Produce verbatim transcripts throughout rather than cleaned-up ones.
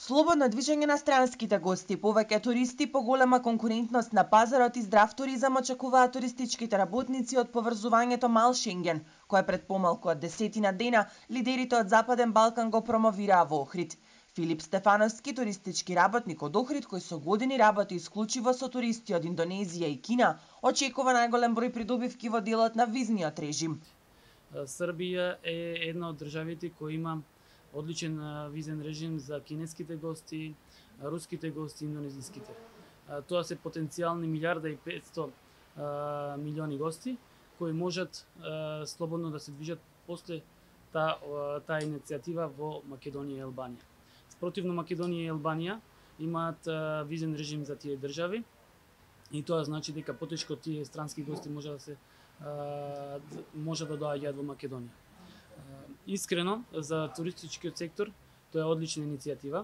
Слободно движење на странските гости, повеќе туристи, поголема конкурентност на пазарот и здрав туризам очекуваат туристичките работници од поврзувањето Мал Шенген, кое пред помалку од десетина дена лидерите од Западен Балкан го промовираа во Охрид. Филип Стефановски, туристички работник од Охрид, кој со години работи исклучиво со туристи од Индонезија и Кина, очекува најголем број придобивки во делот на визниот режим. Србија е една од државите кои има одличен визен режим за кинеските гости, руските гости и индонезиските. Тоа се потенцијални милиарда и петстотини милиони гости кои можат слободно да се движат после таа таа иницијатива во Македонија и Албанија. Спротивно, Македонија и Албанија имаат визен режим за тие држави и тоа значи дека потешко тие странски гости може да се може да доаѓаат во Македонија. Искрено, за туристичкиот сектор тоа е одлична иницијатива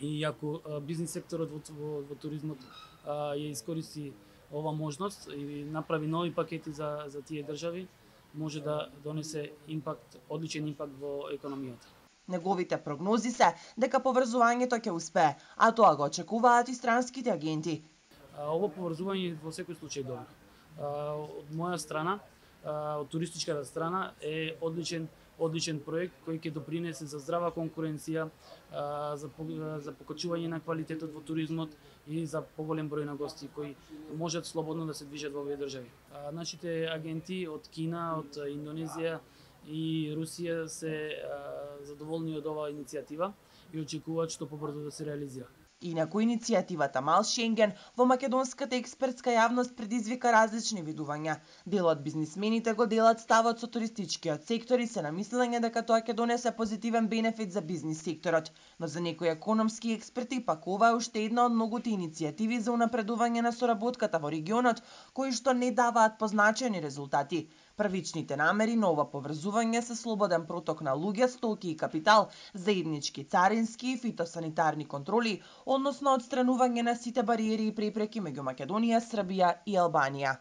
и ако бизнис секторот во, во, во туризмот а, ја искористи ова можност и направи нови пакети за, за тие држави, може да донесе импакт, одличен импакт во економијата. Неговите прогнози се дека поврзувањето ќе успее, а тоа го очекуваат и странските агенти. А, ова поврзување во секој случај добро. А, од моја страна, од туристичката страна е одличен одличен проект кој ќе допринесе за здрава конкуренција, за за покачување на квалитетот во туризмот и за поголем број на гости кои можат слободно да се движат во овие држави. Нашите агенти од Кина, од Индонезија и Русија се задоволни од оваа иницијатива и очекуваат што побрзо да се реализира. Инаку иницијативата Мал Шенген во македонската експертска јавност предизвика различни видувања. Дел од бизнисмените го делат ставот со туристичкиот сектор и се на мислење дека тоа ќе донесе позитивен бенефит за бизнис секторот, но за некои економски експерти пак ова е уште една од многуте иницијативи за унапредување на соработката во регионот, кои што не даваат позначени резултати. Првичните намери на ова поврзување се слободен проток на луѓе, стоки и капитал, заеднички царински и фитосанитарни контроли, односно одстранување на сите бариери и препреки меѓу Македонија, Србија и Албанија.